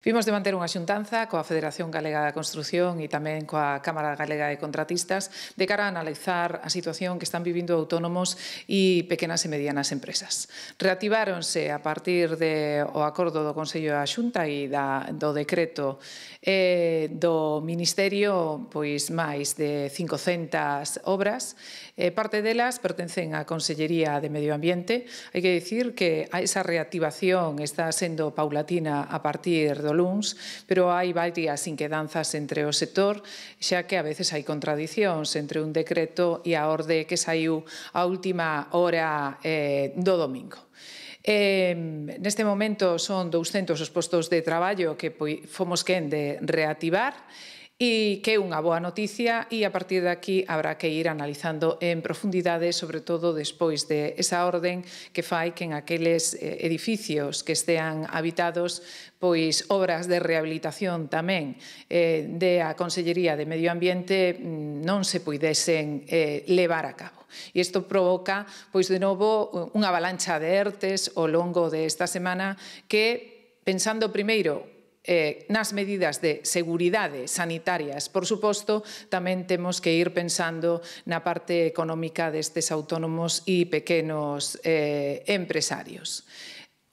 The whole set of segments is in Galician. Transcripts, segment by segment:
Vimos de manter unha xuntanza coa Federación Galega da Construción e tamén coa Cámara Galega de Contratistas de cara a analizar a situación que están vivindo autónomos e pequenas e medianas empresas. Reactiváronse a partir do acordo do Consello da Xunta e do decreto do Ministerio máis de 500 obras. Parte delas pertencen á Consellería de Medio Ambiente. Hai que dicir que esa reactivación está sendo paulatina a partir do luns, pero hai varias inquedanzas entre o sector, xa que a veces hai contradicións entre un decreto e a orde que saiu a última hora do domingo. Neste momento son 200 os postos de traballo que fomos quen de reactivar, e que é unha boa noticia, e a partir de aquí habrá que ir analizando en profundidade, sobre todo despois de esa orden que fai que en aqueles edificios que estean habitados, obras de rehabilitación tamén da Consellería de Medio Ambiente non se puidesen levar a cabo. E isto provoca, de novo, unha avalancha de ERTEs ao longo desta semana que, pensando primeiro nas medidas de seguridade sanitarias, por suposto, tamén temos que ir pensando na parte económica destes autónomos e pequenos empresarios.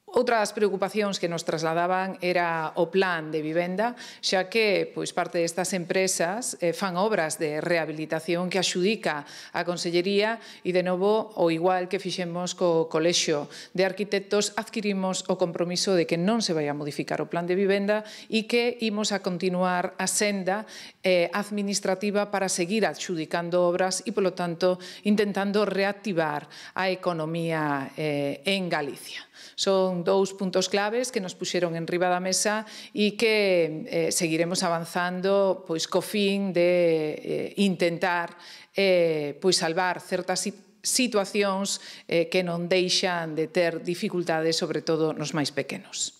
Outra das preocupacións que nos trasladaban era o plan de vivenda, xa que parte destas empresas fan obras de rehabilitación que axudica a Consellería e, de novo, o igual que fixemos co Colexio de Arquitectos, adquirimos o compromiso de que non se vai a modificar o plan de vivenda e que imos a continuar a senda administrativa para seguir adxudicando obras e, polo tanto, intentando reactivar a economía en Galicia. Son dous puntos claves que nos puxeron enriba da mesa e que seguiremos avanzando co fin de intentar salvar certas situacións que non deixan de ter dificultades, sobre todo nos máis pequenos.